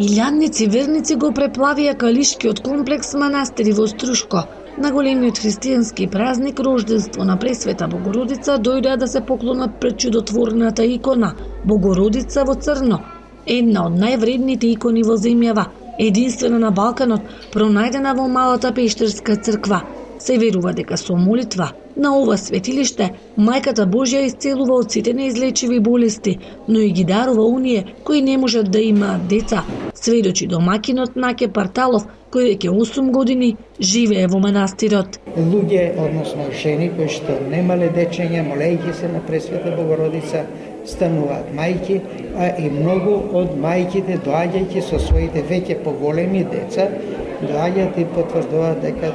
Илјадници верници го преплавија калишкиот комплекс манастири во Струшко. На големиот христијански празник рожденство на Пресвета Богородица дојдоа да се поклонат пред чудотворната икона Богородица во црно, една од највредните икони во земјава, единствена на Балканот, пронајдена во малата пештерска црква. Се верува дека со молитва на ова светилиште Мајката Божја исцелува од сите неизлечиви болести, но и ги дарува оние кои не можат да имаат деца, сведочи домакинот Наке Парталов, кој веќе 8 години живее во манастирот. Луѓе, односно жени кои што немале дечења, молејќи се на Пресвета Богородица, стануваат мајки, а и многу од мајките доаѓајќи со своите веќе поголеми деца, доаѓаат и потврдуваат дека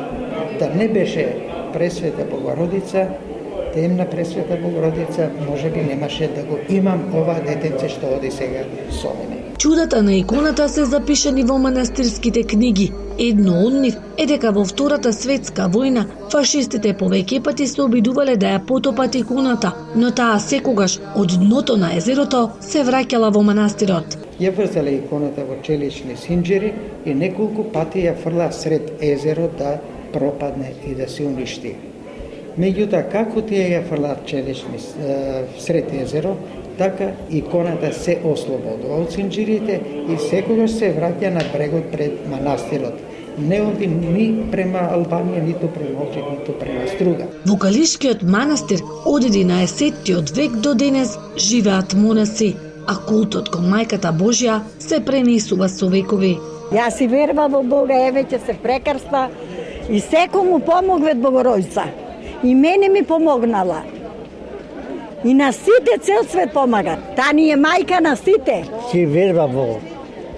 да не беше Пресвета Богородица, темна Пресвета Богородица, можеби немаше да го имам ова детенце што оди сега со мене. Чудата на иконата се запишани во манастирските книги. Едно од нив е дека во Втората светска војна фашистите повеќе пати се обидувале да ја потопат иконата, но таа секогаш од дното на езерото се враќала во манастирот. Ја врзале иконата во челични синџери и неколку пати ја фрла сред езеро да пропадне и да се уништи. Меѓутоа, како тие ја фрлаат челични сред езеро, така иконата се ослободува од синџирите и секогаш се враќа на брегот пред манастирот. Не оди ни према Албанија, ниту према Охрид, ниту према Струга. Во Калишкиот манастир од 11 век до денес живеат монаси, а култот кон Мајката Божја се пренесува со векови. Јас си верувам во Бога, веќе се прекрста и секому помогве Богородица. И мене ми помогнала. И на сите цел свет помага. Та ни е мајка на сите. Си верува во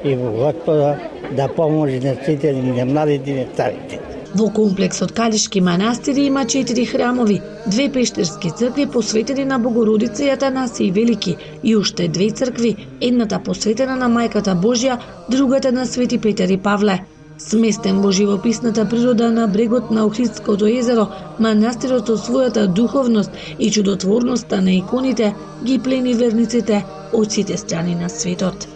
Господа да поможи на сите, на младите и на старите. Во комплексот Калишки манастири има 4 храмови, 2 пештерски цркви посветени на Богородица и Атанасиј Велики и уште 2 цркви, едната посветена на Мајката Божја, другата на Свети Петар и Павле. Сместен во живописната природа на брегот на Охридското езеро, манастирот со својата духовност и чудотворноста на иконите ги плени верниците од сите страни на светот.